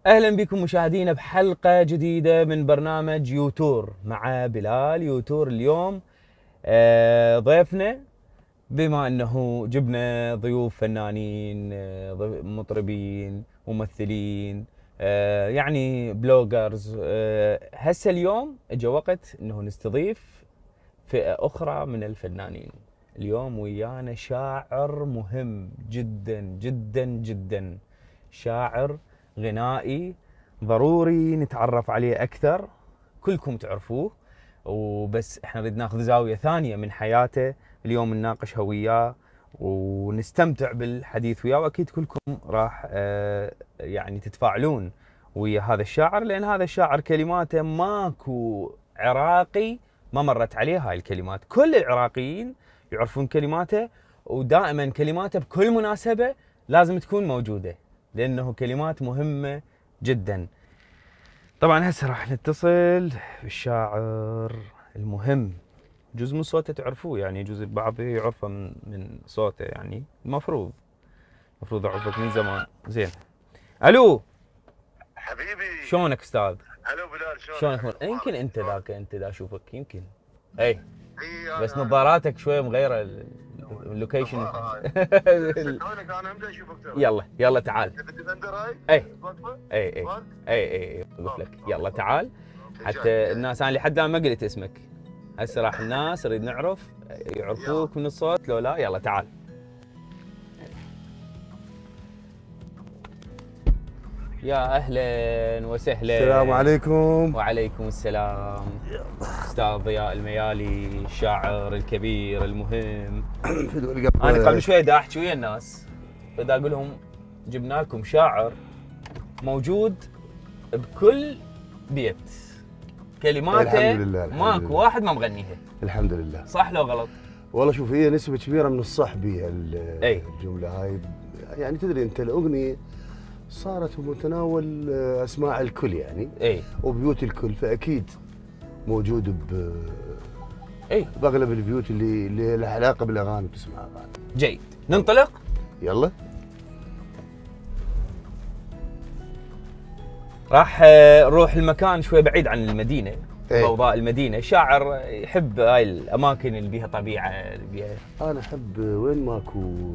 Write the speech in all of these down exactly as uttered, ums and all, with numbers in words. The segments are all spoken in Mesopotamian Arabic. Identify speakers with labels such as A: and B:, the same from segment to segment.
A: اهلا بكم مشاهدينا بحلقه جديده من برنامج يوتور مع بلال يوتور. اليوم آه ضيفنا، بما انه جبنا ضيوف فنانين، آه مطربين، ممثلين، آه يعني بلوجرز، آه هسه اليوم اجى وقت انه نستضيف فئه اخرى من الفنانين. اليوم ويانا شاعر مهم جدا جدا جدا، شاعر غنائي ضروري نتعرف عليه اكثر، كلكم تعرفوه وبس احنا نريد ناخذ زاويه ثانيه من حياته. اليوم نناقشها وياه ونستمتع بالحديث وياه، واكيد كلكم راح آه يعني تتفاعلون ويا هذا الشاعر، لان هذا الشاعر كلماته ماكو عراقي ما مرت عليه هاي الكلمات. كل العراقيين يعرفون كلماته، ودائما كلماته بكل مناسبه لازم تكون موجوده، لانه كلمات مهمه جدا. طبعا هسه راح نتصل بالشاعر المهم، جزء من صوته تعرفوه، يعني جزء البعض يعرفه من, من صوته، يعني المفروض المفروض اعرفك من زمان. زين، الو
B: حبيبي،
A: شلونك استاذ؟
B: الو بلال،
A: شلونك؟
B: شلونك؟
A: يمكن انت ذاك انت دا اشوفك يمكن اي
B: إيه
A: بس
B: أنا-
A: نظاراتك شويه مغيره اللوكيشن.
B: شلونك؟ انا امتى اشوفك ترى؟
A: يلا يلا تعال.
B: تبي الديفندر هاي؟
A: اي
B: واقفة؟
A: اي اي
B: واقف؟
A: اي اي اقول لك يلا تعال، حتى
B: جاي.
A: الناس انا لحد الان ما قلت اسمك، هسه راح الناس نريد نعرف يعرفوك من الصوت لو لا. يلا تعال. يا اهلا وسهلا.
C: السلام عليكم.
A: وعليكم السلام. استاذ ضياء الميالي، الشاعر الكبير المهم. انا قبل شوي دا احكي ويا الناس، فدا اقول لهم جبنا لكم شاعر موجود بكل بيت، كلماته
C: الحمد لله الحمد
A: ماكو
C: لله.
A: واحد ما مغنيها.
C: الحمد لله.
A: صح لو غلط؟
C: والله شوف، هي نسبة كبيرة من الصح بها
A: أي.
C: الجملة هاي. يعني تدري انت الاغنية صارت بمتناول اسماع الكل يعني،
A: اي
C: وبيوت الكل، فاكيد موجود ب
A: اي
C: باغلب البيوت اللي اللي لها علاقة بالاغاني تسمع اغاني.
A: جيد، ننطلق.
C: يلا.
A: راح نروح المكان شوي بعيد عن المدينة،
C: أي.
A: ضوضاء المدينة. شاعر يحب هاي الأماكن اللي بيها طبيعة، اللي بيها
C: انا احب وين ماكو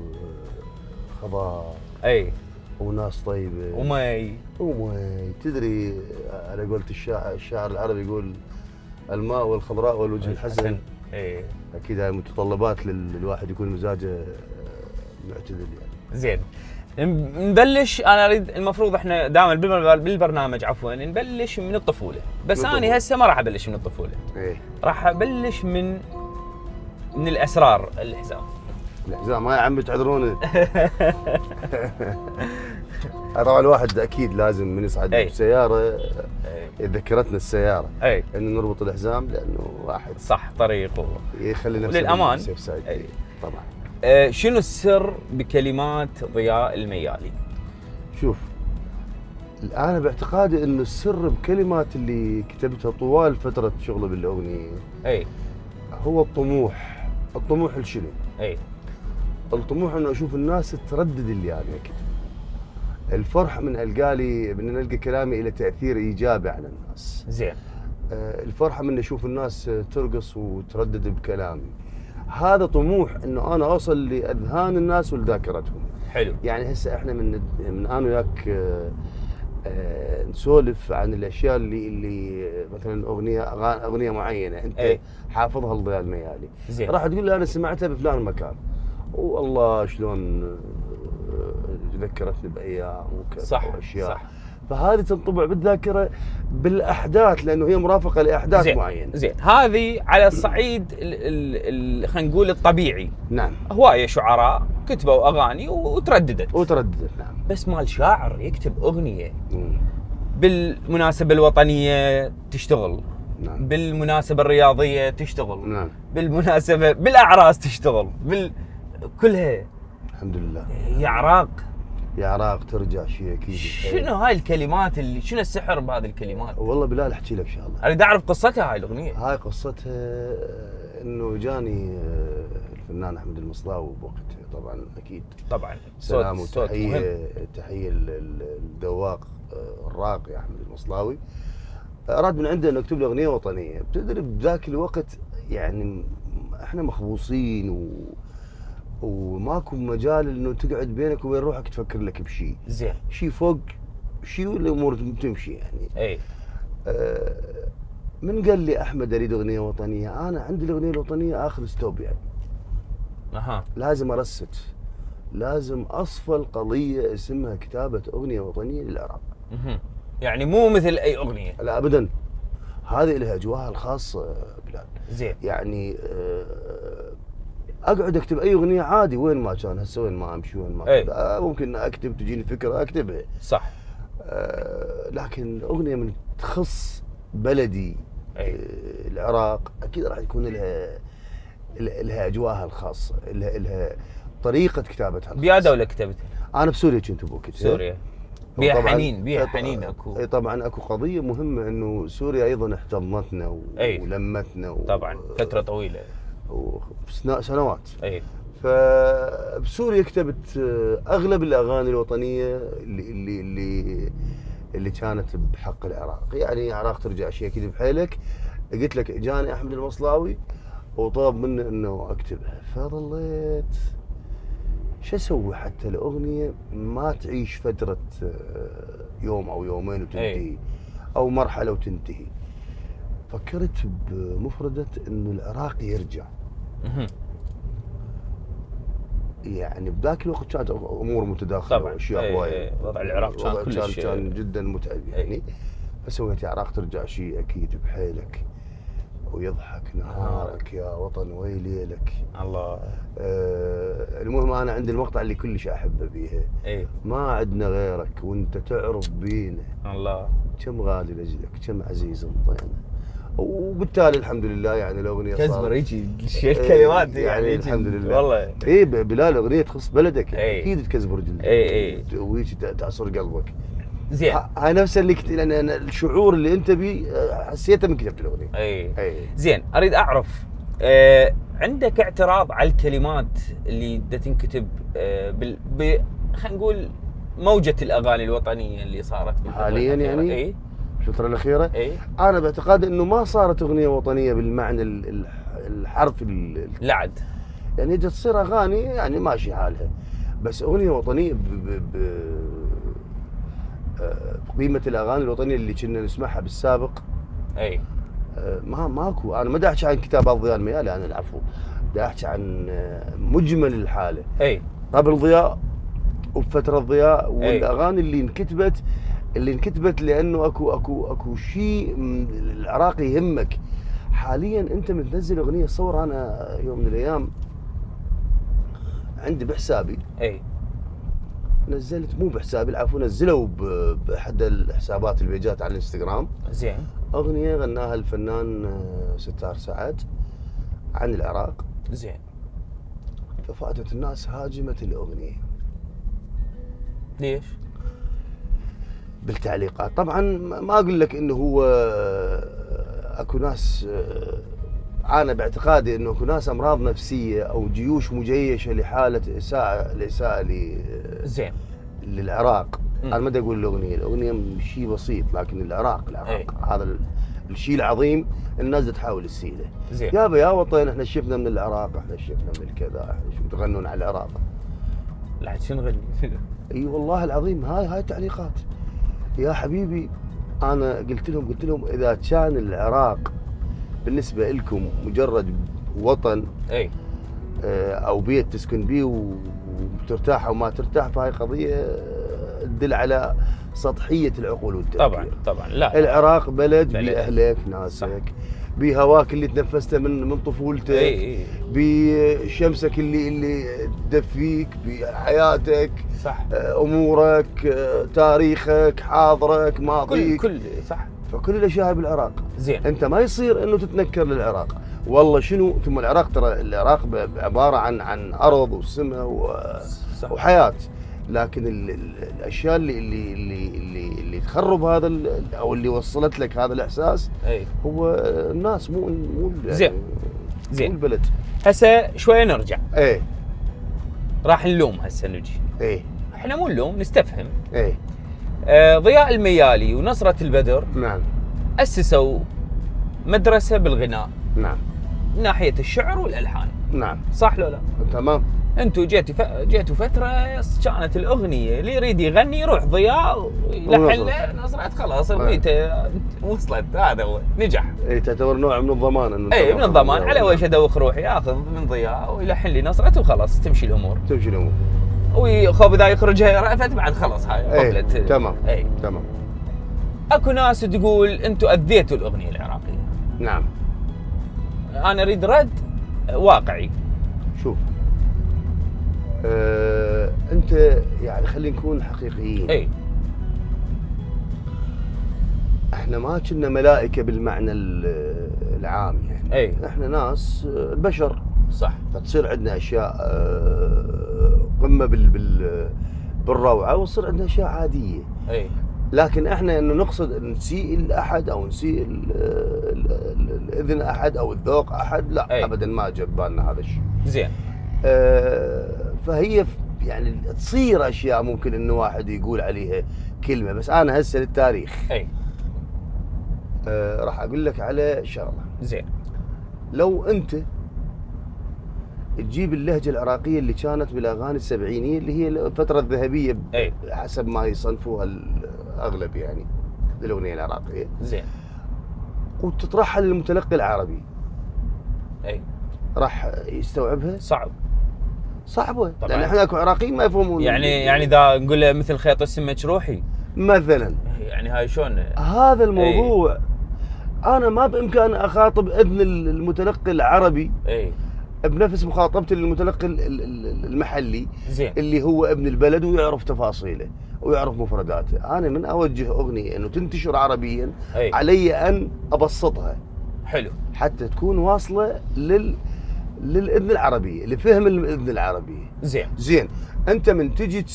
C: خضار
A: اي
C: وناس طيبة
A: ومي
C: ومي. تدري على قولة الشاعر الشاعر العربي يقول الماء والخضراء والوجه الحسن.
A: اي
C: اكيد هاي متطلبات للواحد يكون مزاجه معتدل يعني.
A: زين، نبلش. انا اريد، المفروض احنا دائما بالبرنامج عفوا نبلش من الطفولة، بس انا هسه ما راح ابلش من الطفولة.
C: ايه،
A: راح ابلش من من الاسرار الحزام.
C: الحزام هاي عم تعذروني. طبعا الواحد اكيد لازم من يصعد
A: أي.
C: بسياره ذكرتنا السياره
A: اي
C: انه نربط الحزام، لانه واحد
A: صح طريق و...
C: يخلي نفسه
A: وللأمان.
C: سيف سايد.
A: أي.
C: طبعا.
A: آه شنو السر بكلمات ضياء الميالي؟
C: شوف، انا باعتقادي انه السر بكلمات اللي كتبتها طوال فتره شغله بالاغنيه
A: اي
C: هو الطموح. الطموح لشنو؟
A: اي
C: الطموح انه اشوف الناس تردد اللي انا كتبه. الفرح من القالي من نلقى كلامي له تاثير ايجابي على الناس.
A: زين.
C: آه، الفرحه من اشوف الناس ترقص وتردد بكلامي. هذا طموح انه انا اوصل لاذهان الناس ولذاكرتهم.
A: حلو.
C: يعني هسه احنا من من انا وياك آه، آه، نسولف عن الاشياء اللي اللي مثلا اغنيه اغنيه معينه انت
A: أي.
C: حافظها لضياء الميالي.
A: زين.
C: راح تقول لي انا سمعتها بفلان مكان، والله شلون آه، ذكرتني بايام وكذا
A: صح
C: واشياء.
A: صح.
C: فهذه تنطبع بالذاكره بالاحداث، لانه هي مرافقه لاحداث
A: زين.
C: معينه.
A: زين، هذه على الصعيد خلينا نقول الطبيعي.
C: نعم.
A: هوايه شعراء كتبوا اغاني وترددت
C: وترددت. نعم.
A: بس مال شاعر يكتب اغنيه
C: مم.
A: بالمناسبه الوطنيه تشتغل،
C: نعم.
A: بالمناسبه الرياضيه تشتغل،
C: نعم.
A: بالمناسبه بالاعراس تشتغل، بال كلها.
C: الحمد لله.
A: يا عراق
C: يا عراق ترجع شيء اكيد.
A: شنو هاي الكلمات اللي شنو السحر بهذه الكلمات؟
C: والله بلال احكي لك شغله.
A: اريد اعرف قصتها هاي الاغنيه.
C: هاي قصتها انه جاني الفنان احمد المصلاوي بوقتها، طبعا اكيد
A: طبعا
C: سلام
A: صوت صوت مهم.
C: وتحيه تحيه للذواق الراقي احمد المصلاوي اراد من عنده انه يكتب له اغنيه وطنيه. بتدري بذاك الوقت يعني احنا مخبوصين و وماكو مجال انه تقعد بينك وبين روحك تفكر لك بشيء.
A: زين.
C: شيء فوق شيء والامور تمشي يعني.
A: اي.
C: آه من قال لي احمد اريد اغنيه وطنيه؟ انا عندي الاغنيه الوطنيه اخر ستوب يعني.
A: اها.
C: لازم ارست، لازم اصفى القضيه اسمها كتابه اغنيه وطنيه للعراق.
A: اها. يعني مو مثل اي اغنيه.
C: لا ابدا. هذه لها اجواءها الخاصه بلال.
A: زين.
C: يعني آه اقعد اكتب اي اغنيه عادي وين ما كان، هسه وين ما امشي وين ما
A: أي.
C: آه ممكن اكتب تجيني فكره اكتبها.
A: صح.
C: آه لكن اغنيه من تخص بلدي
A: أي.
C: آه العراق اكيد راح يكون لها لها اجواءها الخاصه، لها لها طريقه كتابتها.
A: بيا دوله كتبتها؟
C: انا بسوريا كنت بوقتها.
A: سوريا. بيها حنين، بيها حنين اكو.
C: اي طبعا اكو قضيه مهمه انه سوريا ايضا احتضنتنا و... ولمتنا و...
A: طبعا فتره طويله
C: وسنوات.
A: اي.
C: فبسوريا كتبت اغلب الاغاني الوطنيه اللي اللي اللي اللي كانت بحق العراق، يعني العراق ترجع شيء اكيد بحيلك. قلت لك اجاني احمد المصلاوي وطلب مني انه اكتبها، فظليت شو اسوي حتى الاغنيه ما تعيش فتره يوم او يومين وتنتهي او مرحله وتنتهي. فكرت بمفردة انه العراق يرجع. يعني بذاك الوقت كانت امور متداخله
A: طبعا
C: واشياء هوايه.
A: وضع العراق كان كلش
C: كان جدا متعب يعني. فسويت يا عراق ترجع شيء اكيد بحيلك ويضحك نهارك يا وطن ويليلك.
A: الله.
C: آه المهم انا عندي المقطع اللي كلش احبه بيها.
A: اي.
C: ما عندنا غيرك وانت تعرف بينا.
A: الله.
C: كم غالي لاجلك كم عزيز انطينا. وبالتالي الحمد لله يعني الاغنيه صارت
A: كزبر يجي شيء الكلمات
C: يعني, يعني الحمد لله
A: والله.
C: اي بلال اغنيه تخص بلدك
A: اي.
C: اكيد تكزبر جلدك.
A: اي اي
C: ويجي تعصر قلبك.
A: زين.
C: هاي نفس اللي كت... لان الشعور اللي انت بيه حسيته من كتبت الاغنيه.
A: اي.
C: اي.
A: زين اريد اعرف آه عندك اعتراض على الكلمات اللي دا تنكتب آه بال ب... خلينا نقول موجه الاغاني الوطنيه اللي صارت
C: حاليا يعني؟
A: اي
C: الفتره الاخيره؟
A: اي.
C: انا باعتقادي انه ما صارت اغنيه وطنيه بالمعنى الحرفي
A: لا عاد.
C: يعني جت تصير اغاني يعني ماشي حالها، بس اغنيه وطنيه ب... ب... ب... بقيمه الاغاني الوطنيه اللي كنا نسمعها بالسابق.
A: اي.
C: ما ماكو. انا ما دا احكي عن كتاب ضياء الميالي، انا العفو دا احكي عن مجمل الحاله.
A: اي.
C: قبل ضياء وبفتره ضياء والاغاني اللي انكتبت اللي انكتبت لانه اكو اكو اكو شيء العراقي يهمك. حاليا انت من تنزل اغنيه، صور انا يوم من الايام عندي بحسابي.
A: اي.
C: نزلت مو بحسابي العفو، نزلوا باحد الحسابات البيجات على الانستغرام.
A: زين.
C: اغنيه غناها الفنان ستار سعد عن العراق.
A: زين.
C: ففاتت الناس هاجمت الاغنيه.
A: ليش؟
C: بالتعليقات طبعا. ما اقول لك انه هو اكو ناس، انا باعتقادي انه اكو ناس امراض نفسيه او جيوش مجيشه لحاله اساءه الاساءه ل
A: زين
C: للعراق. انا ما بدي اقول الاغنيه، الاغنيه شيء بسيط، لكن العراق العراق
A: أي.
C: هذا الشيء العظيم الناس تحاول تسيله.
A: زين.
C: يابا يا وطن احنا شفنا من العراق، احنا شفنا من الكذا، احنا شو تغنون على العراق.
A: لا شنو نغني؟
C: اي والله العظيم هاي هاي تعليقات. يا حبيبي انا قلت لهم قلت لهم اذا كان العراق بالنسبه لكم مجرد وطن
A: اي
C: او بيت تسكن بيه وترتاح او ما ترتاح، فهاي قضيه تدل على سطحيه العقول والتفكير.
A: طبعا طبعا. لا
C: العراق بلد, بلد. باهلك ناسك، بهواك اللي تنفسته من من طفولتك.
A: اي اي.
C: بشمسك اللي اللي تدفيك، بحياتك.
A: صح.
C: امورك، تاريخك، حاضرك، ماضيك،
A: كل كل صح.
C: فكل الاشياء بالعراق.
A: زين.
C: انت ما يصير انه تتنكر للعراق. والله شنو ثم العراق، ترى العراق عباره عن عن ارض وسماء وحياه، لكن ال ال الاشياء اللي اللي اللي اللي, اللي تخرب هذا او اللي وصلت لك هذا الاحساس
A: أي.
C: هو الناس مو مو
A: زين
C: يعني
A: زين
C: مو البلد.
A: هسه شويه نرجع.
C: ايه
A: راح نلوم هسه نجي.
C: ايه
A: احنا مو نلوم، نستفهم.
C: ايه
A: آه ضياء الميالي ونصرة البدر
C: نعم
A: اسسوا مدرسه بالغناء
C: نعم
A: من ناحيه الشعر والالحان،
C: نعم
A: صح لو لا؟
C: تمام.
A: انتم جيتوا ف... جيتوا فتره كانت الاغنيه اللي يريد يغني يروح ضياء يلحن له نصرت، خلاص اغنيته وصلت، هذا هو نجح.
C: اي تعتبر نوع من الضمان انه
A: اي من الضمان، على وش ادوخ روحي اخذ من ضياء ويلحن لي نصرت وخلاص تمشي الامور.
C: تمشي الامور.
A: وخوف اذا يخرجها رأفت بعد خلاص هاي قفلت.
C: تمام
A: اي
C: تمام.
A: اكو ناس تقول انتم اذيتوا الاغنيه العراقيه.
C: نعم.
A: انا اريد رد واقعي.
C: شوف أه، انت يعني خلينا نكون حقيقيين.
A: اي
C: احنا ما كنا ملائكه بالمعنى العام يعني.
A: اي
C: احنا ناس بشر.
A: صح.
C: فتصير عندنا اشياء أه قمه بال بال بالروعه، وتصير عندنا اشياء عاديه.
A: اي
C: لكن احنا انه نقصد نسيء لاحد او نسيء الاذن احد او الذوق احد، لا أي. ابدا ما جاب بالنا هذا الشيء.
A: زين.
C: آه فهي يعني تصير اشياء ممكن انه واحد يقول عليها كلمه، بس انا هسه للتاريخ
A: اي
C: آه راح اقول لك على شغله.
A: زين.
C: لو انت تجيب اللهجه العراقيه اللي كانت بالاغاني السبعينيه اللي هي الفتره الذهبيه
A: أي.
C: حسب ما يصنفوها الاغلب يعني للاغنيه العراقيه.
A: زين.
C: وتطرحها للمتلقي العربي.
A: اي
C: راح يستوعبها؟
A: صعب.
C: صعبه طبعا، لان احنا اكو عراقيين ما يفهمون.
A: يعني يعني اذا نقول له مثل خيط السمك روحي
C: مثلا،
A: يعني هاي شلون
C: هذا الموضوع. أي. انا ما بامكاني اخاطب اذن المتلقي العربي
A: اي
C: بنفس مخاطبتي للمتلقي المحلي.
A: زين.
C: اللي هو ابن البلد ويعرف تفاصيله ويعرف مفرداته. انا من اوجه اغنيه انه تنتشر عربيا
A: أي.
C: علي ان ابسطها.
A: حلو.
C: حتى تكون واصله لل للاذن العربيه، لفهم الاذن العربيه.
A: زين.
C: زين. انت من تجي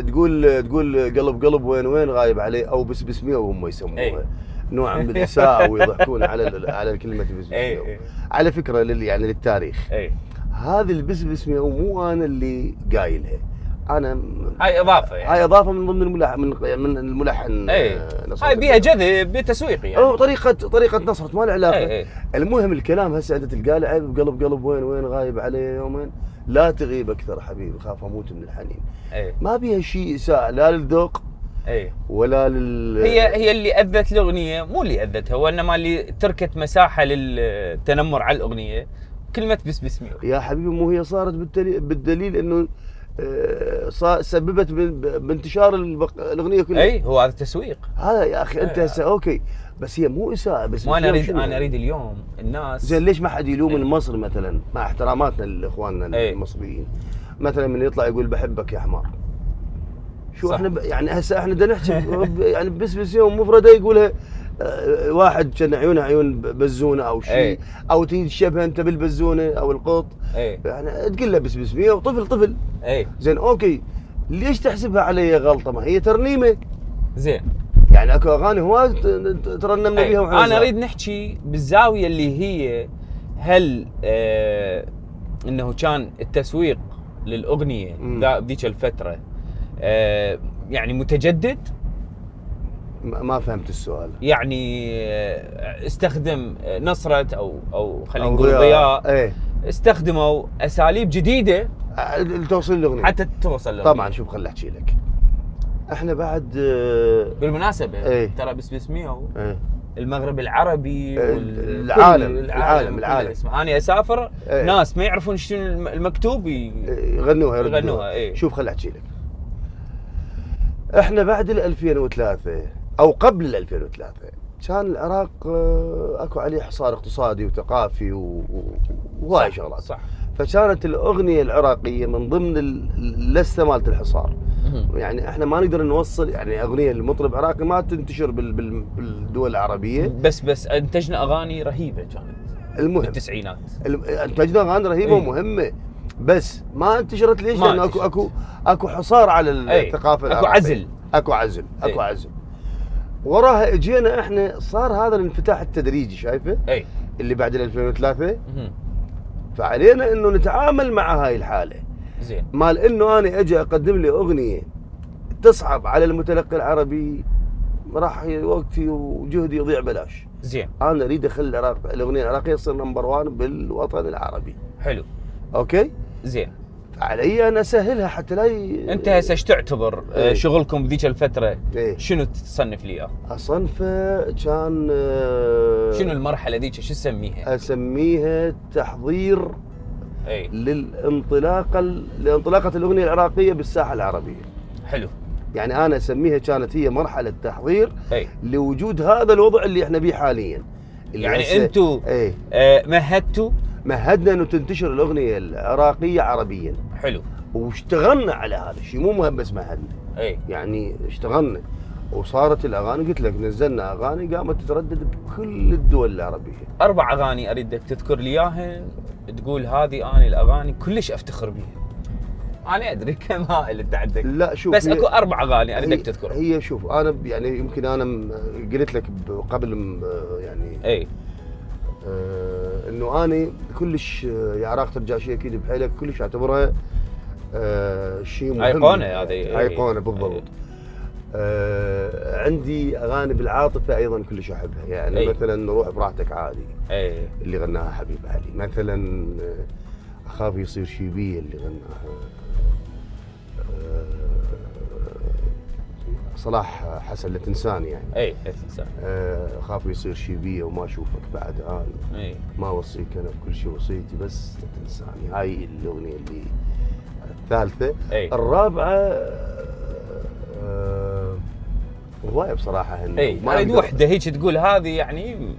C: تقول تقول قلب قلب وين وين غايب عليه، او بس بسميه وهم يسموها نوع من الاساءه ويضحكون على على كلمه بس بسميه. على فكره لل يعني للتاريخ.
A: اي
C: هذه البس بسميه ومو انا اللي قايلها، انا
A: هاي اضافه يعني.
C: هاي اضافه من ضمن الملحن من من الملحن.
A: اي هاي بيها جذب تسويقي يعني.
C: او طريقه طريقه نصرت ما له علاقه.
A: أي أي.
C: المهم الكلام هسه انت تلقى له عيب قلب قلب وين وين غايب علي يومين، لا تغيب اكثر حبيبي خاف اموت من الحنين.
A: أي.
C: ما بيها شيء اساءه لا للذوق
A: اي
C: ولا لل
A: هي هي اللي اذت الاغنيه، مو اللي اذتها، وانما اللي تركت مساحه للتنمر على الاغنيه. كلمه بس بسمي
C: يا حبيبي، مو هي صارت بالدليل, بالدليل انه صار سببت بانتشار الاغنيه كلها.
A: اي هو هذا التسويق.
C: هذا يا اخي انت هسه اوكي، بس هي مو اساءه. بس
A: ما انا اريد انا اريد اليوم الناس.
C: زين ليش ما حد يلوم مصر مثلا، مع احتراماتنا لاخواننا المصريين، مثلا من يطلع يقول بحبك يا حمار. شو صح. احنا ب... يعني هسه احنا بدنا نحكي يعني بس بس يوم مفرده يقولها أه واحد كان عيونه عيون بزونه او شيء.
A: أي.
C: او تشبه انت بالبزونه او القط.
A: أي.
C: يعني تقول له بس بس مية وطفل طفل.
A: اي
C: زين اوكي، ليش تحسبها علي غلطه؟ ما هي ترنيمه.
A: زين.
C: يعني اكو اغاني هواي ترنمنا بيها وحنا.
A: انا اريد نحكي بالزاويه اللي هي هل آه انه كان التسويق للاغنيه ذيك الفتره آه يعني متجدد.
C: ما فهمت السؤال.
A: يعني استخدم نصرت او او خلينا نقول ضياء.
C: ايه.
A: استخدموا اساليب جديده
C: لتوصيل الاغنيه
A: حتى توصل الاغنيه.
C: طبعا شوف خليني احكي لك. احنا بعد
A: بالمناسبه
C: ايه.
A: ترى بس بسميه
C: ايه.
A: المغرب العربي
C: العالم العالم العالم
A: انا اسافر
C: ايه.
A: ناس ما يعرفون شنو المكتوب
C: يغنوها
A: يغنوها. ايه.
C: شوف خليني احكي لك. احنا بعد ال ألفين وثلاثة او قبل ال ألفين وثلاثة كان العراق اكو عليه حصار اقتصادي وثقافي وهواي شغلات.
A: صح.
C: فكانت الاغنيه العراقيه من ضمن اللسته مالت الحصار. يعني احنا ما نقدر نوصل يعني اغنيه لمطرب عراقي ما تنتشر بالدول العربيه.
A: بس بس انتجنا اغاني رهيبه كانت.
C: المهم
A: بالتسعينات
C: انتجنا اغاني رهيبه ومهمه، بس ما انتشرت. ليش؟ لانه اكو اكو اكو حصار على الثقافه العراقيه.
A: اكو عزل
C: اكو عزل اكو اي. عزل. وراها اجينا احنا صار هذا الانفتاح التدريجي، شايفه؟
A: اي
C: اللي بعد ألفين وثلاثة. فعلينا انه نتعامل مع هاي الحاله.
A: زين.
C: مال انه انا اجي اقدم لي اغنيه تصعب على المتلقي العربي راح وقتي وجهدي يضيع بلاش.
A: زين.
C: انا اريد اخلي العراق الاغنيه العراقيه تصير نمبر واحد بالوطن العربي.
A: حلو.
C: اوكي؟
A: زين.
C: فعلي انا اسهلها حتى لا ي...
A: انت هسه ايش تعتبر
C: ايه؟
A: شغلكم بذيك الفتره؟
C: ايه؟
A: شنو تصنف لي اياه؟
C: اصنفه كان
A: شنو المرحله ذيك شو تسميها؟
C: اسميها تحضير
A: اي
C: للانطلاقه لانطلاقه الاغنيه العراقيه بالساحه العربيه.
A: حلو.
C: يعني انا اسميها كانت هي مرحله تحضير
A: اي
C: لوجود هذا الوضع اللي احنا به حاليا. اللي
A: يعني انتم
C: ايه
A: آه مهدتوا
C: مهدنا انه تنتشر الاغنيه العراقيه عربيا.
A: حلو.
C: واشتغلنا على هذا الشيء، مو مهم بس مهدنا.
A: اي
C: يعني اشتغلنا وصارت الاغاني، قلت لك نزلنا اغاني قامت تتردد بكل الدول العربيه.
A: اربع اغاني اريدك تذكر لي اياهن تقول هذه اني الاغاني كلش افتخر بيها. انا ادري كم هائل انت عندك.
C: لا شوف،
A: بس اكو اربع اغاني اريدك
C: هي
A: تذكرهم.
C: هي شوف انا يعني يمكن انا م- قلت لك قبل م- يعني
A: اي
C: آه انه انا كلش آه، يا عراق ترجع شيء اكيد بحيلك كلش اعتبرها آه شيء مهم.
A: ايقونه هذه.
C: ايقونه بالضبط. آه عندي اغاني بالعاطفه ايضا كلش احبها، يعني
A: أي.
C: مثلا روح براحتك عادي
A: اي
C: اللي غناها حبيب علي، مثلا آه، اخاف يصير شي بي اللي غناها آه، صلاح حسن لا تنساني يعني.
A: اي لا تنسى.
C: آه، اخاف يصير شي بي وما اشوفك بعد انا.
A: اي
C: ما اوصيك انا بكل شيء وصيتي بس لا تنساني، هاي الاغنيه اللي الثالثه.
A: اي
C: الرابعه آه، هوايه بصراحه هن
A: اي
C: ما
A: اريد
C: أقدر-
A: وحده هيك تقول هذه يعني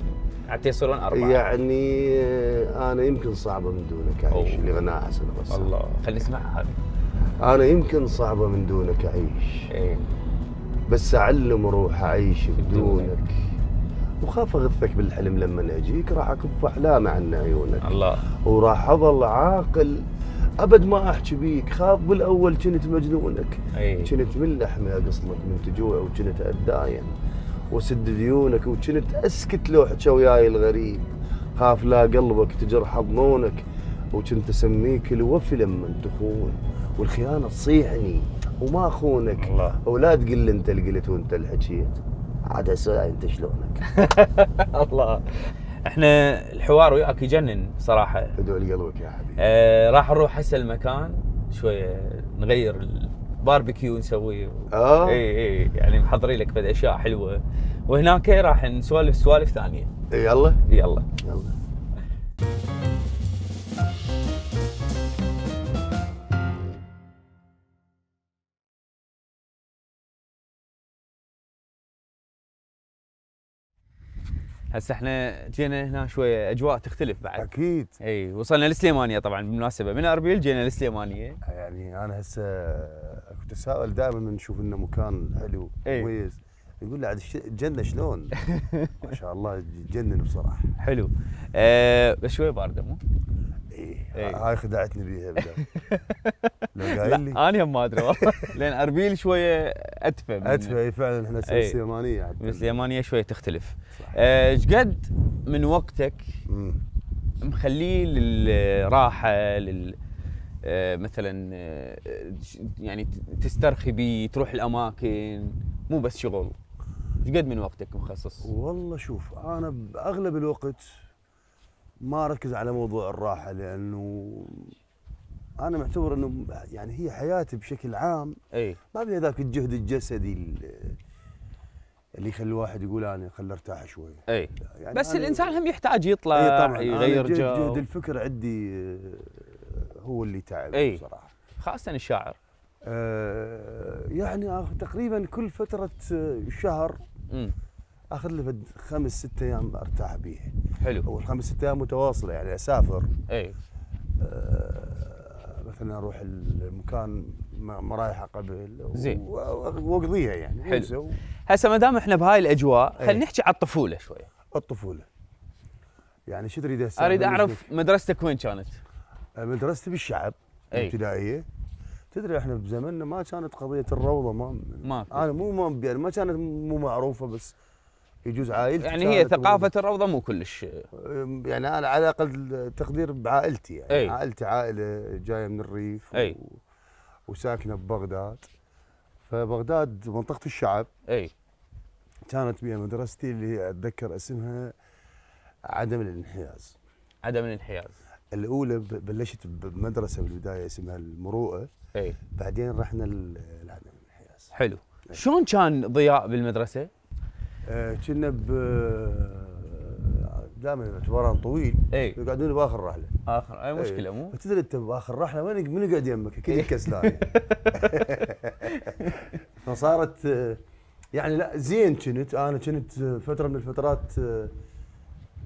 A: حتى يصيرون اربعه.
C: يعني آه، انا يمكن صعبه من دونك اعيش
A: أوه.
C: اللي غناها حسن غسان.
A: الله خلينا نسمعها هذه.
C: انا يمكن صعبه من دونك اعيش،
A: اي
C: بس اعلم روح اعيش
A: بدونك.
C: بدونك، وخاف اغثك بالحلم لما اجيك، راح اكف احلامي عن عيونك،
A: الله.
C: وراح اظل عاقل ابد ما احكي بيك، خاف بالاول كنت مجنونك،
A: اي
C: كنت من لحمي اقصلك من تجوع، وكنت اتداين وسد ديونك، وكنت اسكت لو حكى وياي الغريب، خاف لا قلبك تجرح ضنونك، وكنت اسميك الوفي لما تخون، والخيانه تصيحني وما اخونك،
A: الله.
C: ولا تقول لي انت اللي قلت وانت اللي حكيت، عاد اسا انت شلونك.
A: الله. احنا الحوار وياك يجنن صراحه.
C: ادعو لقلبك يا حبيبي.
A: آه راح نروح هسه المكان شويه نغير الباربيكيو نسويه.
C: اه
A: اي اي يعني محضرين لك بعد اشياء حلوه، وهناك راح نسولف سوالف ثانيه.
C: يلا
A: يلا.
C: يلا.
A: هسه احنا جينا هنا شويه اجواء تختلف بعد.
C: اكيد.
A: اي وصلنا للسليمانيه طبعا بالمناسبه، من اربيل جينا للسليمانيه.
C: يعني انا هسه كنت اتساءل دائما من نشوف انه مكان حلو
A: إيه.
C: مميز، نقول له عاد الش- الجنه شلون؟ ما شاء الله تجنن بصراحه.
A: حلو. آه بس شويه بارده مو؟
C: ايه
A: إيه.
C: هاي خدعتني بيها بدأ. لو قايل لي
A: لا انا هم ما ادري والله لان اربيل شويه ادفى من
C: ادفى. اي فعلا احنا
A: إيه.
C: سليمانيه عاد.
A: من السليمانيه شويه تختلف.
C: صح.
A: ايش قد من وقتك
C: مم.
A: مخليه للراحه لل آه، مثلا آه، يعني تسترخي بيه تروح الاماكن مو بس شغل؟ ايش قد من وقتك مخصص؟
C: والله شوف انا باغلب الوقت ما اركز على موضوع الراحه، لانه انا معتبر انه يعني هي حياتي بشكل عام
A: اي
C: ما بين ذاك الجهد الجسدي اللي اللي يخلي الواحد يقول انا خل ارتاح شوي.
A: اي
C: يعني
A: بس
C: أنا-
A: الانسان هم يحتاج يطلع
C: اي طبعا
A: يغير
C: أنا جهد,
A: جو.
C: جهد الفكر عندي آه، هو اللي تعب
A: أي.
C: بصراحه.
A: خاصه الشاعر.
C: آه، يعني آخ- تقريبا كل فتره آه، شهر
A: امم
C: اخذ لي فد خمس ست ايام ارتاح بيه.
A: حلو.
C: او الخمس ست ايام متواصله، يعني اسافر
A: اي
C: آه، مثلا اروح المكان ما ما رايحه قبل
A: زين.
C: و- واقضيها يعني.
A: حلو.
C: ونسوي
A: هسه ما دام احنا بهاي الاجواء
C: أي.
A: خلينا نحكي على الطفوله شويه.
C: الطفوله. يعني شو تريد هسه؟
A: اريد
C: أبلش
A: اعرف مدرستك وين كانت؟
C: لك؟ مدرستي بالشعب
A: أي.
C: الابتدائيه. تدري احنا بزمننا ما كانت قضيه الروضه ما
A: ماكو.
C: انا مو ما يعني ما كانت مو معروفه، بس يجوز عائلتي
A: يعني هي
C: كانت
A: ثقافه الروضه مو كلش.
C: يعني انا على اقل تقدير بعائلتي، يعني
A: أي.
C: عائلتي عائله جايه من الريف
A: أي.
C: و... وساكنه ببغداد، فبغداد منطقه الشعب
A: اي
C: كانت بها مدرستي اللي اتذكر اسمها عدم الانحياز.
A: عدم الانحياز.
C: الاولى بلشت بمدرسه بالبدايه اسمها المروءه،
A: اي
C: بعدين رحنا لعدم الانحياز.
A: حلو. شلون كان ضياء بالمدرسه؟
C: آه، كنا ب دائما اعتبارا طويل
A: اي
C: يقعدون باخر رحله.
A: اخر اي مشكله مو؟
C: تدري انت باخر رحله وين من يقعد يمك؟ اكيد الكسلان. فصارت آه، يعني لا زين كنت انا كنت فتره من الفترات آه،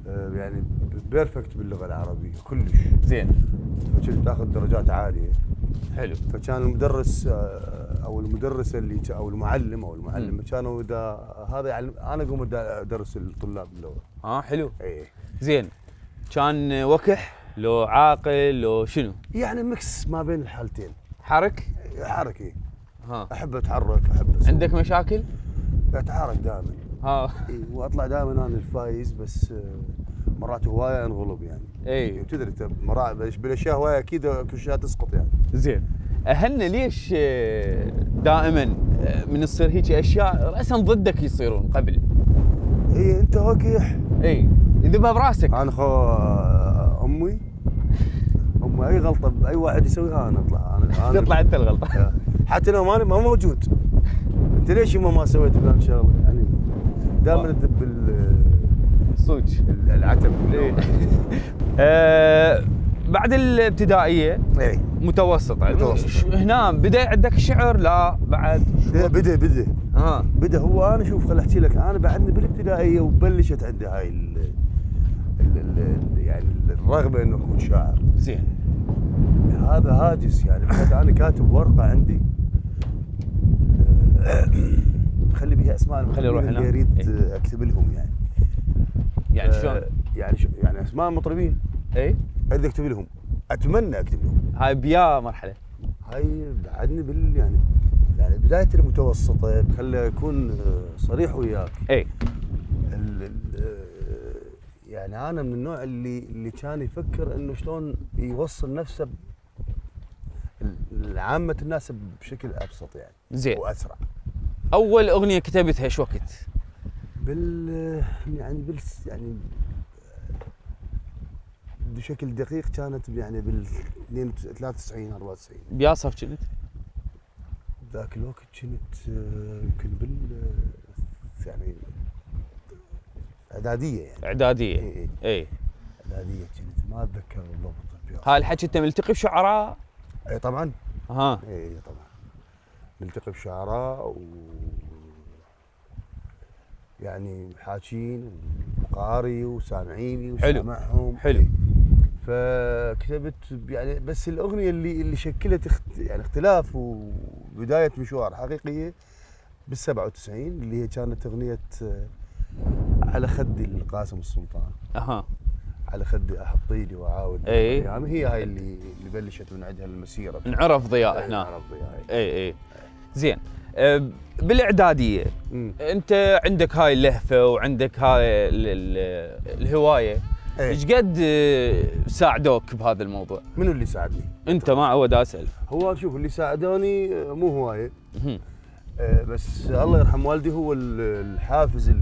C: آه، يعني بيرفكت باللغه العربيه كلش
A: زين.
C: فكنت اخذ درجات عاليه.
A: حلو.
C: فكان المدرس آه، او المدرسه اللي او المعلم او المعلمه كانوا اذا هذا يعني انا اقوم ادرس الطلاب اللغه.
A: اه حلو.
C: اي
A: زين. كان وكح لو عاقل لو شنو؟
C: يعني ميكس ما بين الحالتين.
A: حرك؟
C: حركي.
A: ها.
C: احب اتحرك احب أسوي.
A: عندك مشاكل؟
C: اتحرك دائما.
A: ها.
C: اي واطلع دائما انا الفايز بس آه، مرات هوايه انغلب يعني.
A: اي
C: تدري انت مرات بالاشياء هوايه اكيد كل شيء تسقط يعني.
A: زين. اهلنا ليش آه، دائما آه، من تصير هيك اشياء راسا ضدك يصيرون قبل؟
C: اي انت وقح.
A: اي يذبها براسك.
C: انا خو امي امي اي غلطه اي واحد يسويها انا اطلع انا انا
A: تطلع انت الغلطه.
C: حتى لو ماني ما موجود. انت ليش يما ما سويت فلان شغله يعني دائما تذب
A: الصوج
C: العتب.
A: آه بعد الابتدائيه
C: اي
A: متوسطه
C: متوسطة.
A: هنا بدا عندك شعر؟ لا بعد
C: بدا بدا بدا
A: ها
C: بدا هو انا شوف خل احكي لك انا بعدني بالابتدائيه وبلشت عندي هاي ال ال ال يعني الرغبه انه اكون شاعر.
A: زين.
C: هذا هاجس يعني انا كاتب ورقه عندي خلي بيها اسماء
A: خلي يروح
C: اللي
A: هنا.
C: اريد
A: ايه؟
C: اكتب لهم يعني.
A: يعني شلون؟
C: يعني شو يعني اسماء المطربين
A: اي
C: اريد اكتب لهم اتمنى اكتب لهم.
A: هاي بيا مرحله؟
C: هاي بعدني بال يعني يعني بدايه المتوسطه خلي اكون صريح وياك.
A: اي
C: ال ال يعني انا من النوع اللي اللي كان يفكر انه شلون يوصل نفسه لعامه الناس بشكل ابسط يعني.
A: زين.
C: واسرع.
A: اول اغنيه كتبتها ايش وقت؟
C: بال يعني بال يعني بشكل دقيق كانت يعني بال ثلاثة وتسعين أربعة وتسعين.
A: بيا صف كنت؟
C: ذاك الوقت كنت يمكن بال يعني اعداديه يعني.
A: اعداديه.
C: اي اي
A: اي
C: اعداديه كنت ما اتذكر بالضبط.
A: هاي الحكي انت ملتقي بشعراء؟
C: اي طبعا.
A: ها.
C: اي طبعا ملتقي بشعراء و يعني حاكين وقاري وسامعيني وسامعهم.
A: حلو.
C: فكتبت يعني بس الاغنيه اللي اللي شكلت اخت يعني اختلاف وبدايه مشوار حقيقيه بال سبعة وتسعين اللي هي كانت اغنيه على خدي القاسم السلطان.
A: اها.
C: على خدي احطيني واعاود.
A: اي
C: يعني هي هاي اللي اللي بلشت من عندها المسيره.
A: انعرف ضياء هنا.
C: انعرف ضياء.
A: اي اي زين. أه بالاعداديه
C: مم.
A: انت عندك هاي اللهفه وعندك هاي ال ال الهوايه، ايش قد ساعدوك بهذا الموضوع؟
C: منو اللي ساعدني؟
A: انت ما عود اسال.
C: هو شوف اللي ساعدوني مو هوايه أه بس الله يرحم والدي هو الحافز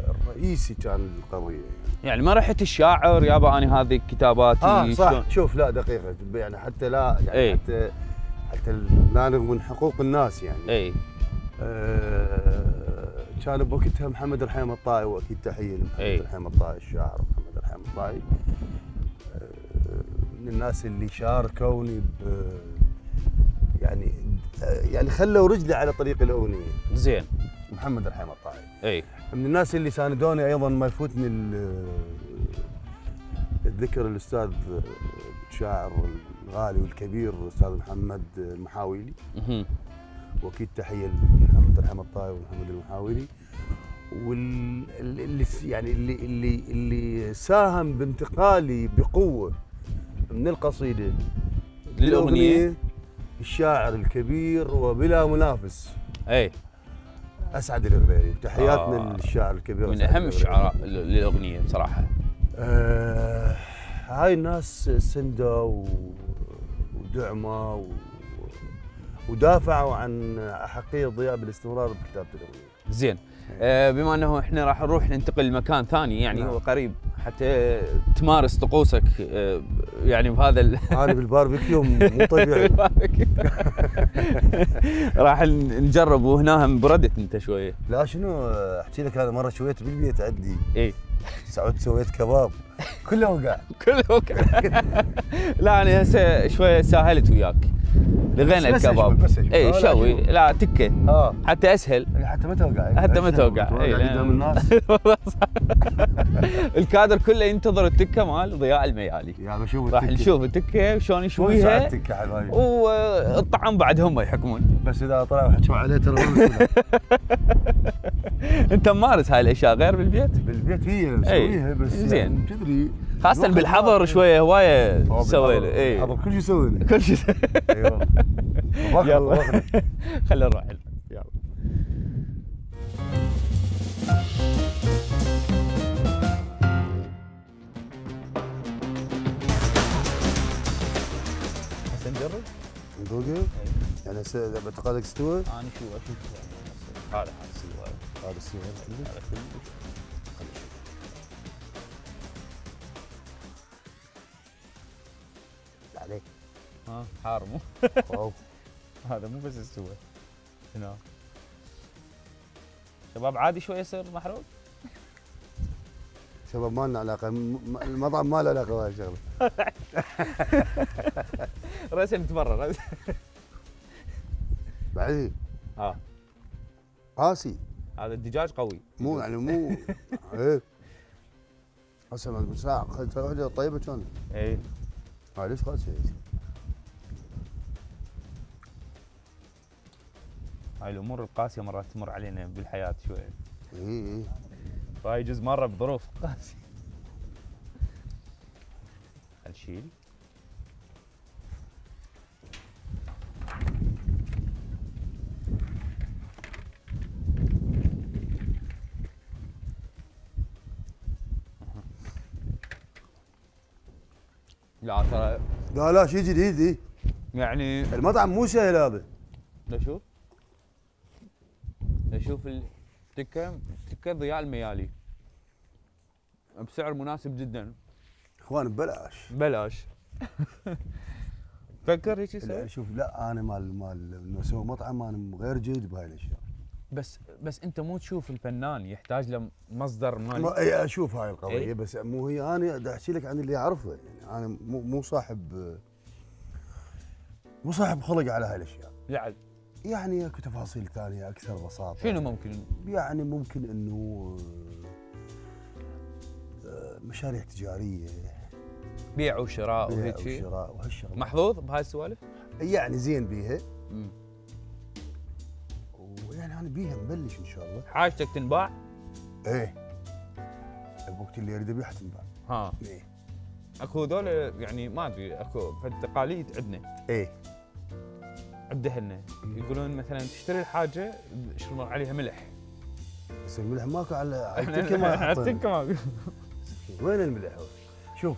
C: الرئيسي كان القضيه
A: يعني ما رحت الشاعر يابا انا هذه كتاباتي.
C: اه صح شلون؟ شوف لا دقيقه يعني حتى لا يعني ايه؟ حتى حتى لا من حقوق الناس يعني.
A: اي
C: آه كان بوقتها محمد الرحيم الطائي واكيد تحيه لمحمد ايه؟ الرحيم الطائي الشاعر محمد الرحيم الطائي آه من الناس اللي شاركوني ب يعني يعني خلوا رجلي على طريق الاغنيه.
A: زين.
C: محمد الرحيم الطائي.
A: اي
C: من الناس اللي ساندوني ايضا ما يفوتني الذكر الاستاذ الشاعر الغالي والكبير الاستاذ محمد المحاويلي.
A: اها.
C: واكيد تحيه لمحمد الرحيم الطائي ومحمد المحاويلي. واللي يعني اللي اللي اللي ساهم بانتقالي بقوه من القصيده
A: للاغنيه
C: الشاعر الكبير وبلا منافس.
A: اي
C: اسعد الغريري وتحياتنا آه للشاعر الكبير
A: من اهم الشعراء للاغنيه بصراحه.
C: آه هاي الناس سندة ودعمه و... ودافعوا عن احقيه ضياء بالاستمرار بكتابه الاغنيه.
A: زين، آه بما انه احنا راح نروح ننتقل لمكان ثاني يعني
C: نعم.
A: هو قريب حتى تمارس طقوسك آه يعني بهذا ال...
C: انا بالباربيكيو مو طبيعي.
A: راح نجرب وهنا هم بردت انت شويه.
C: لا شنو احكي لك، انا مره شويت بالبيت عندي
A: اي
C: سعود سويت كباب كله وقع.
A: كله وقع. لا انا هسه شويه ساهلت وياك، لغينا
C: بس
A: الكباب.
C: بس أشوف.
A: اي
C: لا
A: شوي،
C: شوف.
A: لا تكه
C: اه
A: حتى اسهل.
C: حتى ما توقع،
A: حتى ما توقع.
C: اي قدام الناس.
A: الكادر كله ينتظر التكه مال ضياء الميالي.
C: يا بشوف
A: راح
C: التكة.
A: نشوف التكه شلون
C: شلون
A: يشويها
C: التكه حبايبي،
A: والطعم بعد هم يحكمون.
C: بس اذا طلعوا حكوا عليه ترى ما مسؤول.
A: انت ممارس هاي الاشياء غير بالبيت؟
C: بالبيت هي مسويها بس
A: زين.
C: يعني تدري
A: خاصة بالحظر شوية هواية تسوي له. اي
C: حظر كل شيء يسوي له.
A: كل شيء.
C: ايوه
A: يلا خلينا نروح. يلا هسه نجرب؟
C: نذوقه؟ يعني هسه باعتقادك استوى؟
A: انا شو اشوف هذا هذا استوى.
C: هذا استوى
A: هذا كله
C: عليك.
A: ها حار مو؟
C: واو
A: هذا مو بس استوى. هنا شباب عادي شوي يصير محروق؟
C: شباب ما لنا علاقه، م- المطعم ما له علاقه بهاي الشغله.
A: راسا نتبرر.
C: بعدين
A: ها
C: قاسي
A: هذا الدجاج قوي.
C: مو يعني مو ايه هسه بالساعه خليتها وحده طيبه كانت.
A: اي
C: هاي ليش قاسي؟
A: هاي الامور القاسيه مرات تمر علينا بالحياه شويه.
C: اي اي
A: فهاي يجوز مره بظروف قاسيه. نشيل. لا ترى
C: لا لا شيء جديد.
A: يعني
C: المطعم مو سهل هذا.
A: لا شوف لا شوف التكه تكه ضياء الميالي بسعر مناسب جدا.
C: اخوان ببلاش
A: بلاش. فكر هيك يسوي.
C: لا شوف، لا انا مال مال انه اسوي مطعم انا غير جيد بهاي الاشياء.
A: بس بس انت مو تشوف الفنان يحتاج له مصدر مالي.
C: ما اي اشوف هاي القضيه
A: إيه؟
C: بس مو هي، انا دا احكي لك عن اللي اعرفه يعني. انا مو مو صاحب مو صاحب خلق على هاي الاشياء.
A: لعل
C: يعني اكو تفاصيل ثانيه اكثر بساطه.
A: شنو ممكن؟
C: يعني ممكن انه آه، مشاريع تجاريه،
A: بيع وشراء
C: بيع
A: وهيك شيء.
C: وشراء وهالشغلات.
A: محظوظ بهاي السوالف؟
C: يعني زين بيها،
A: امم
C: ويعني انا بيها مبلش ان شاء الله.
A: حاجتك تنباع؟
C: ايه بوقت اللي اريد ابيعها تنباع.
A: ها
C: ايه
A: اكو ذول يعني ما ادري اكو تقاليد عندنا
C: ايه
A: عبد هنا يقولون مثلا تشتري الحاجه يشربون عليها ملح.
C: بس الملح ماكو على على
A: احنا
C: التكه ما
A: على
C: يحطون.
A: التكه ما
C: وين الملح؟ شوف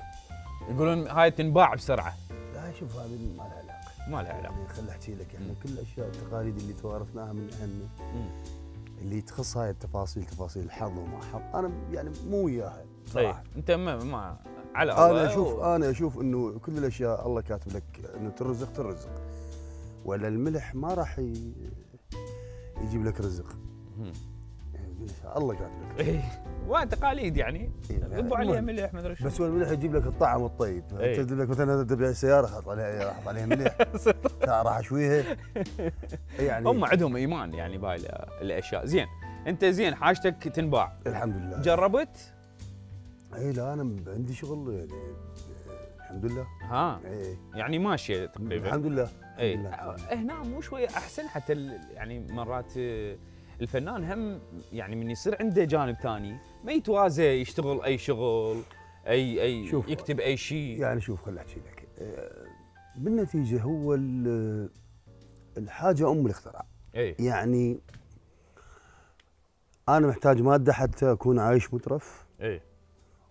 A: يقولون هاي تنباع بسرعه.
C: لا شوف هذه ما لها علاقه.
A: ما لها علاقه.
C: يعني خل احكي لك، احنا
A: مم.
C: كل الاشياء التقاليد اللي توارثناها من اهلنا
A: مم.
C: اللي تخص هاي التفاصيل، تفاصيل الحظ وما حظ، انا يعني مو وياها
A: اي
C: صراحه.
A: انت ما, ما على
C: انا
A: الله
C: اشوف
A: و...
C: انا اشوف انه كل الاشياء الله كاتب لك انه ترزق ترزق، ولا الملح ما راح ي... يجيب لك رزق.
A: مم.
C: يعني الله كاتب لك رزق.
A: اي وتقاليد يعني
C: إيه، يعني
A: ذبوا عليها
C: المهم.
A: ملح ما ادري شو.
C: بس هو الملح يجيب لك الطعم الطيب.
A: إيه.
C: تجيب لك مثلا تبيع سياره حط عليها حط عليها ملح راح اشويها يعني.
A: هم عندهم ايمان يعني بهاي الاشياء. زين انت زين حاجتك تنباع
C: الحمد لله.
A: جربت؟
C: اي لا انا عندي شغل يعني الحمد لله.
A: ها
C: اي
A: يعني ماشيه تقريبا.
C: الحمد لله.
A: اي
C: الحمد لله.
A: هنا مو شويه احسن حتى ال- يعني مرات آه، الفنان هم يعني من يصير عنده جانب ثاني ما يتوازى يشتغل اي شغل اي اي
C: شوف،
A: يكتب اي شيء.
C: يعني شوف خل احكي لك آه، بالنتيجه هو ال- الحاجه ام الاختراع.
A: اي
C: يعني انا محتاج ماده حتى اكون عايش مترف
A: اي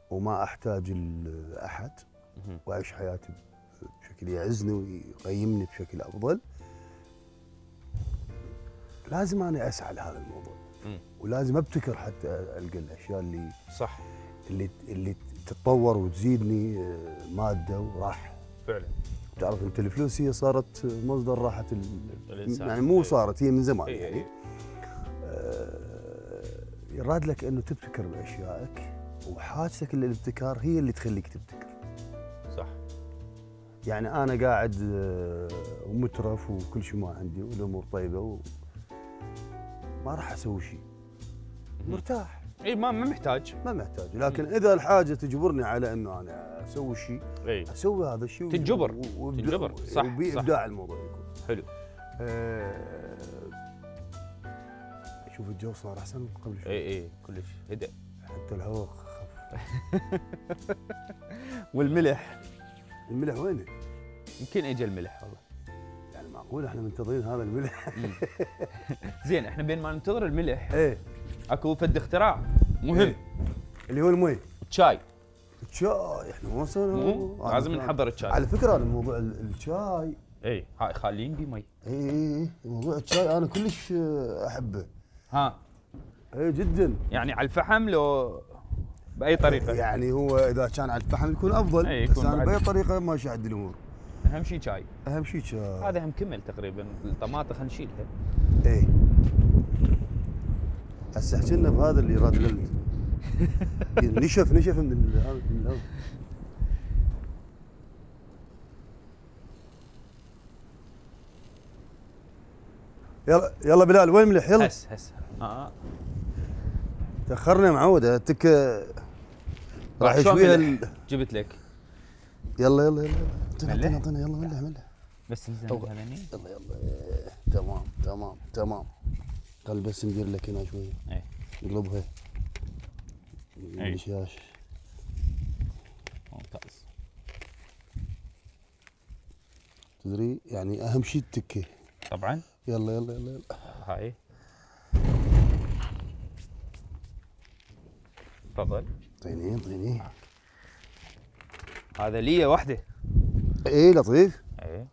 C: وما احتاج ال- احد،
A: مهم.
C: واعيش حياتي بشكل يعزني ويقيمني بشكل افضل. لازم انا اسعى لهذا الموضوع. م. ولازم ابتكر حتى القى الاشياء اللي
A: صح
C: اللي اللي تتطور وتزيدني ماده وراحه.
A: فعلا.
C: تعرف انت الفلوس هي صارت مصدر راحه
A: الانسان،
C: يعني مو صارت، هي من زمان
A: إيه
C: يعني.
A: إيه.
C: آه يراد لك انه تبتكر باشيائك، وحاجتك للابتكار هي اللي تخليك تبتكر.
A: صح.
C: يعني انا قاعد ومترف وكل شيء ما عندي والامور طيبه و... ما راح اسوي شيء. مرتاح.
A: اي ما ما محتاج.
C: ما محتاج، لكن اذا الحاجه تجبرني على انه انا اسوي شيء،
A: اي
C: اسوي هذا الشيء.
A: تنجبر. تنجبر صح.
C: وبابداع الموضوع يكون.
A: حلو.
C: أه... شوف الجو صار احسن من قبل شوي.
A: اي اي كلش هدأ.
C: حتى الهواء خف.
A: والملح.
C: الملح وينه؟
A: يمكن اجى الملح والله.
C: يعني معقول احنا منتظرين هذا الملح؟
A: زين احنا بين ما ننتظر الملح
C: ايه
A: اكو فد اختراع مهم. إيه؟
C: اللي هو المي.
A: الشاي.
C: الشاي احنا ما وصلنا.
A: لازم نحضر الشاي.
C: على فكره انا موضوع الشاي
A: اي هاي خالين بي مي.
C: اي اي موضوع الشاي انا كلش احبه.
A: ها.
C: اي جدا.
A: يعني على الفحم لو باي طريقه؟
C: يعني هو اذا كان على الفحم يكون افضل.
A: اي يكون.
C: بس انا باي طريقه ماشي عند الامور.
A: اهم شيء شاي.
C: اهم شيء شاي.
A: هذا هم كمل تقريبا، الطماطه خلينا نشيلها.
C: اي هسه حكينا بهذا اللي راد لل نشف نشف من هذا من الهواء. يلا يلا بلال وين ملح يلا.
A: هس هس اه
C: تاخرنا معود اتك راح يشويها ال...
A: جبت لك.
C: يلا يلا يلا اعطينا اعطينا يلا ملح ملح
A: بس نزل هذني.
C: يلا يلا تمام تمام تمام. خل بس ندير لك هنا شويه.
A: اي
C: نقلبها.
A: اي
C: الشاش
A: ممتاز.
C: تدري يعني اهم شيء التكه
A: طبعا.
C: يلا يلا يلا يلا
A: هاي تفضل.
C: طيني طيني.
A: هذا لي وحده.
C: ايه لطيف.
A: ايه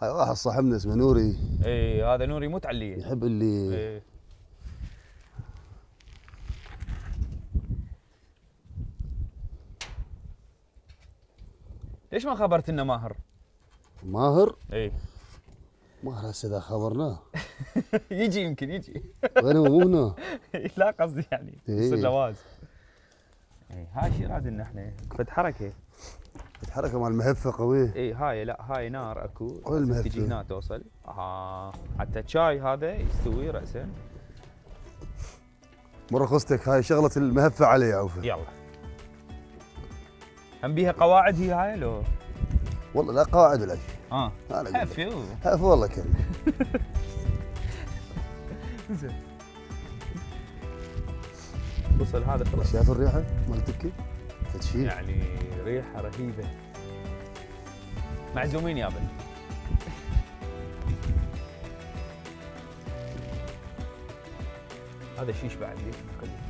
C: هاي واحد صاحبنا اسمه نوري.
A: ايه هذا نوري مو تعليه.
C: يحب اللي
A: ايه ليش ما خبرت انه ماهر؟
C: ماهر؟
A: ايه
C: ماهر هسه اذا خبرناه
A: يجي يمكن يجي.
C: وين هو مو هنا؟
A: لا قصدي يعني يصير
C: إيه.
A: جواز. ايه هاي شي راد ان احنا فد حركه.
C: فد حركه مال مهفه قويه.
A: اي هاي لا هاي نار اكو.
C: وين المهفه؟
A: تجي هنا توصل. اه حتى الشاي هذا يستوي راسا.
C: مره خصتك هاي شغله المهفه علي يا عوفه.
A: يلا. هم بيها قواعد هي هاي لو؟
C: والله لا قواعد ولا شيء.
A: اه
C: انا
A: هفي
C: هف والله كلمه.
A: زين وصل هذا خلاص.
C: شايف الريحه مال التكه؟ فتشيل
A: يعني ريحه رهيبه. معزومين يابا. هذا شيش بعد ليش نخليه.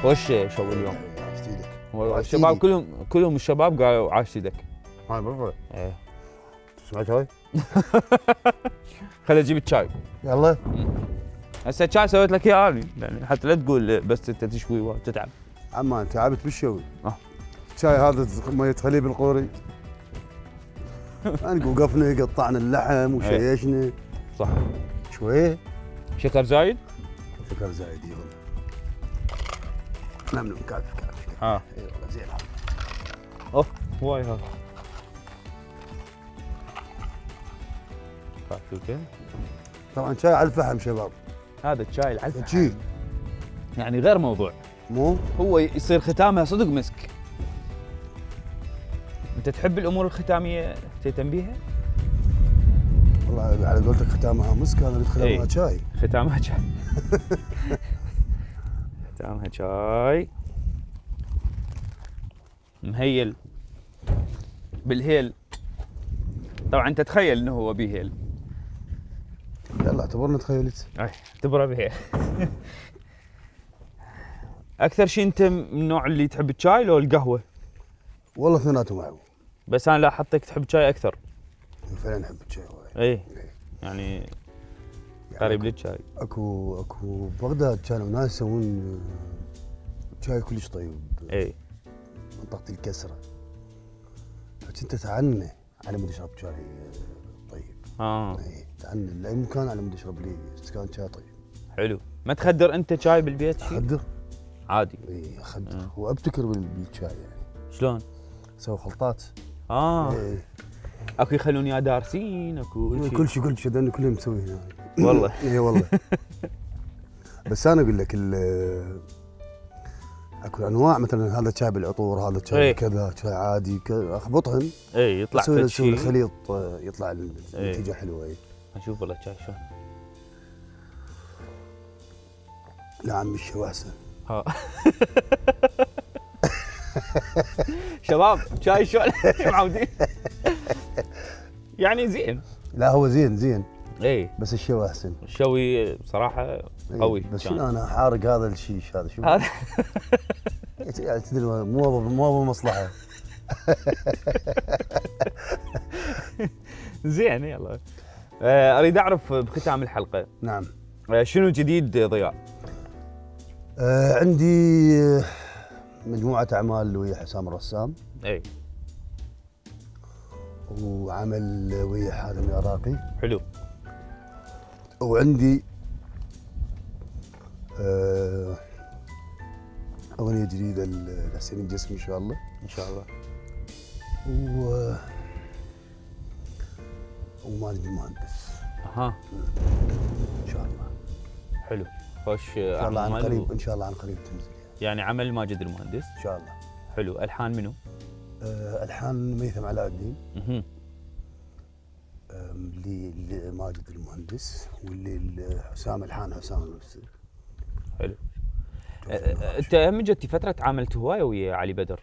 A: وش شو اليوم؟
C: عاشت ايدك.
A: الشباب كلهم كلهم الشباب قالوا عاشت ايدك.
C: هاي بالضبط.
A: ايه
C: سمعت هاي؟
A: خليني اجيب الشاي.
C: يلا.
A: هسه الشاي سويت لك اياه انا يعني حتى لا تقول بس انت تشوي وتتعب.
C: عمان تعبت بالشوي.
A: اه
C: الشاي هذا مية خليب القوري. انا وقفنا قطعنا اللحم وشيشنا.
A: صح.
C: شويه.
A: شكر زايد؟
C: شكر زايد اي والله. نعم نعم كافي كافي.
A: اه
C: اي والله زين هذا.
A: اوف واي هذا. كافي وكذا.
C: طبعا شاي على الفحم شباب.
A: هذا الشاي على الفحم.
C: شي.
A: يعني غير موضوع.
C: مو؟
A: هو يصير ختامها صدق مسك. انت تحب الامور الختاميه تهتم بيها؟
C: والله على قولتك ختامها مسك هذا ختامها شاي.
A: ختامها شاي. ختامها شاي. مهيل بالهيل طبعا انت تخيل انه هو بيهيل.
C: يلا اعتبرنا تخيلت.
A: اي اعتبره بيهيل. اكثر شيء انت من النوع اللي تحب الشاي لو القهوه؟
C: والله اثنيناتهم معه.
A: بس انا لاحظتك تحب الشاي اكثر.
C: فعلا احب الشاي وايد.
A: اي يعني قريب للشاي.
C: اكو اكو بغداد كانوا ناس يسوون شاي كلش طيب.
A: اي
C: منطقة الكسرة. فكنت اتعنى على مود اشرب شاي طيب.
A: اه
C: اي اتعنى لاي مكان على مود اشرب لي استكان شاي طيب.
A: حلو. ما تخدر انت شاي بالبيت شيء؟
C: اخدر.
A: عادي.
C: اي اخدر
A: آه.
C: وابتكر بالشاي يعني.
A: شلون؟
C: اسوي خلطات.
A: اه
C: اي
A: اكو يخلون يا دارسين اكو
C: كل شيء كل شيء لانه كلهم مسوي هنا.
A: والله.
C: اي والله. بس انا اقول لك ال اكو انواع مثلا هذا شاي بالعطور، هذا شاي
A: إيه.
C: كذا، شاي عادي كذا، اخبطهن
A: اي يطلع
C: اسوي
A: فد
C: اسوي
A: شيء.
C: الخليط يطلع النتيجه حلوه. اي
A: اشوف والله شاي شلون.
C: لا عمي الشيء احسن.
A: ها شباب شاي شلون معودين. يعني زين.
C: لا هو زين زين
A: اي
C: بس الشيء احسن.
A: الشوي صراحه قوي.
C: بس
A: كان.
C: شنو انا حارق هذا الشيش هذا شو
A: هذا
C: يعني تدري مو مو بمصلحه.
A: زين يلا. آه، اريد اعرف بختام الحلقه.
C: نعم.
A: آه، شنو جديد ضياء؟
C: آه عندي مجموعه اعمال ويا حسام الرسام.
A: اي
C: وعمل ويا حاتم العراقي.
A: حلو.
C: وعندي آه اغنيه جديده لحسين الجسمي ان شاء الله.
A: ان شاء الله.
C: و ومالك المهندس.
A: اها
C: ان شاء الله.
A: حلو. خوش.
C: ان شاء الله عن
A: أعمال
C: قريب
A: و-
C: ان شاء الله عن قريب تنزل
A: يعني عمل ماجد المهندس.
C: ان شاء الله.
A: حلو. الحان منو؟
C: آه الحان ميثم علاء الدين.
A: اها
C: آم، اللي اللي ماجد المهندس واللي اللي حسام الحان حسام نفسه.
A: حلو. آه، آه، انت هم جتي فتره تعاملت هوايه ويا علي بدر.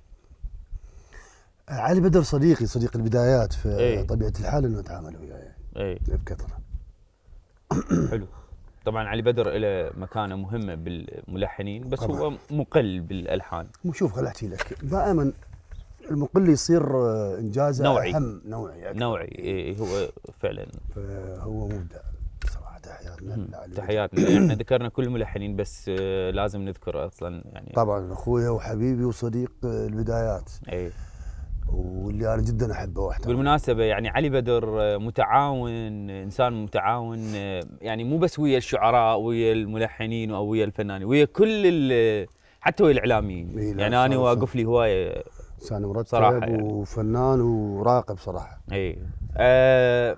C: علي بدر صديقي صديق البدايات
A: إيه.
C: فطبيعه الحال انه اتعامل وياه
A: اي
C: بكثره.
A: حلو. طبعا علي بدر له مكانه مهمه بالملحنين بس
C: طبعاً.
A: هو مقل بالالحان.
C: مو شوف خل احكي لك دائما المقل يصير آه، انجازه
A: نوعي.
C: اهم نوعي أكثر.
A: نوعي. إيه هو فعلا.
C: فهو مبدع صراحه. تحياتنا
A: مهم.
C: لعلي بدر.
A: تحياتنا. احنا ذكرنا كل الملحنين بس آه، لازم نذكر اصلا يعني.
C: طبعا اخويا وحبيبي وصديق آه، البدايات
A: اي
C: واللي انا جدا احبه واحترمه.
A: بالمناسبه يعني علي بدر آه، متعاون، انسان متعاون، آه، يعني مو بس ويا الشعراء ويا الملحنين او ويا الفنانين، ويا كل ال- حتى ويا الاعلاميين.
C: إيه، لا،
A: يعني انا
C: صار-
A: واقف لي هوايه.
C: انسان مرتب
A: صراحة
C: يعني.
A: يعني.
C: وفنان وراقب صراحه.
A: اي آه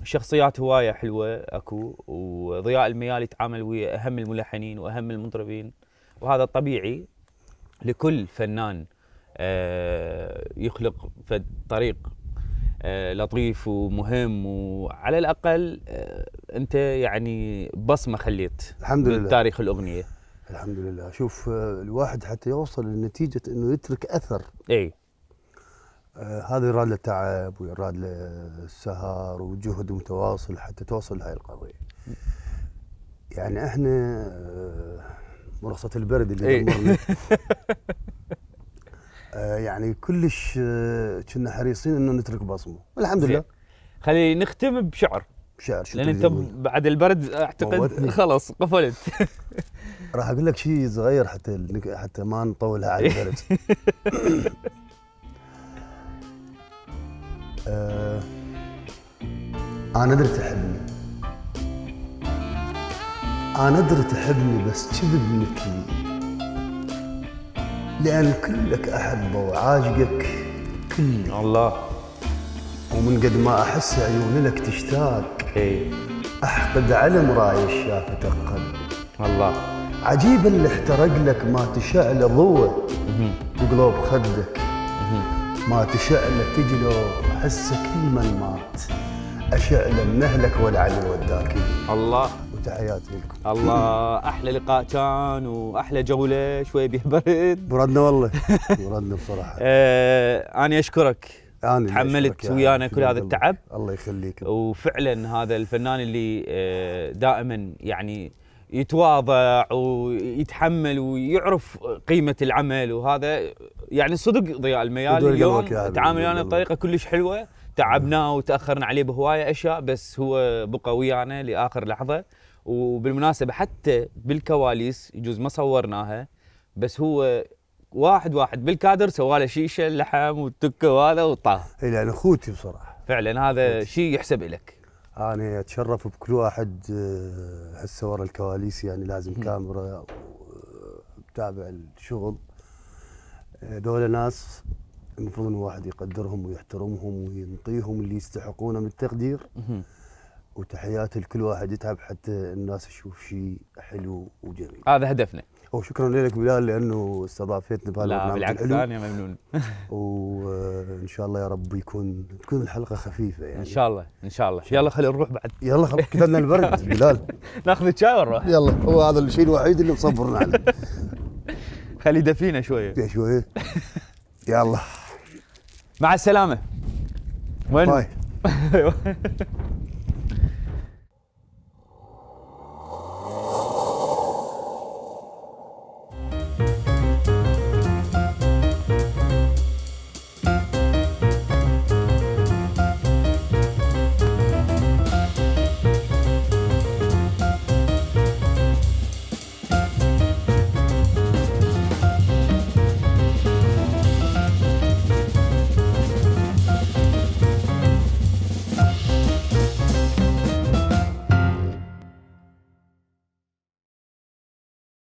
A: شخصيات هوايه حلوه اكو، وضياء الميال يتعامل ويا اهم الملحنين واهم المطربين، وهذا طبيعي لكل فنان آه يخلق في طريق آه لطيف ومهم، وعلى الاقل آه انت يعني بصمه خليت
C: الحمد لله.
A: بتاريخ الاغنيه.
C: الحمد لله. شوف آه، الواحد حتى يوصل لنتيجه انه يترك اثر.
A: اي
C: آه هذا يراد له تعب ويراد له سهر وجهد متواصل حتى توصل لهاي القضيه. يعني احنا آه مرخصه البرد اللي
A: إيه.
C: دمرنا. آه يعني كلش آه، كنا حريصين انه نترك بصمه والحمد
A: زين.
C: لله.
A: خلي نختم بشعر،
C: شعر شو
A: لان
C: تريد
A: انت
C: تقول؟
A: بعد البرد اعتقد
C: موتني.
A: خلاص قفلت.
C: راح اقول لك شيء صغير حتى النك- حتى ما نطولها على البرد. آه انا ادري تحبني، انا ادري تحبني بس كذب مثلي، لان كلك احبه وعاشقك كلي،
A: الله.
C: ومن قد ما احس عيوني لك تشتاق،
A: اي
C: احقد على مراية شافته قلبي،
A: الله.
C: عجيب اللي احترق لك ما تشعل ضوء
A: مهم.
C: بقلوب خدك،
A: مهم.
C: ما تشعل تجلو احس كل من مات، اشعل من اهلك ولعل وداك.
A: الله
C: وتحياتي لكم.
A: الله. احلى لقاء كان واحلى جوله، شوي بيه برد.
C: بردنا والله. بردنا بصراحه.
A: آه انا اشكرك
C: أنا اللي
A: تحملت
C: أشكرك يا
A: ويانا
C: عمي،
A: كل هذا
C: في
A: التعب.
C: الله يخليك.
A: وفعلا هذا الفنان اللي آه، دائما يعني يتواضع ويتحمل ويعرف قيمة العمل، وهذا يعني صدق ضياء الميال
C: يدور
A: اليوم
C: قلبك يا حبيبي،
A: تعامل
C: يدور
A: ويانا
C: قلبك.
A: بطريقة كلش حلوة. تعبناه وتأخرنا عليه بهواية أشياء، بس هو بقى ويانا لآخر لحظة. وبالمناسبة حتى بالكواليس يجوز ما صورناها، بس هو واحد واحد بالكادر سواله شيشة اللحم والتكة وهذا وطاه.
C: اي لان اخوتي بصراحه.
A: فعلا هذا شيء يحسب لك.
C: انا اتشرف بكل واحد آه، هسه ورا الكواليس، يعني لازم كاميرا وتابع الشغل. آه، دول ناس المفروض ان الواحد يقدرهم ويحترمهم وينطيهم اللي يستحقونه من التقدير. وتحياتي لكل واحد يتعب حتى الناس تشوف شيء حلو وجميل.
A: هذا هدفنا.
C: وشكرا لك بلال لانه استضافتنا
A: لا
C: بهالبرنامج
A: بالعكس
C: الحلو.
A: انا ممنون.
C: وان شاء الله يا رب يكون تكون الحلقه خفيفه يعني.
A: ان شاء الله ان شاء الله. يلا خلينا نروح بعد.
C: يلا خلاص كتبنا البرد بلال.
A: ناخذ شاي ونروح.
C: يلا هو هذا الشيء الوحيد اللي مصبرنا عليه.
A: خلي يدفينا شويه.
C: يا شويه. يلا
A: مع السلامه. وين؟
C: باي.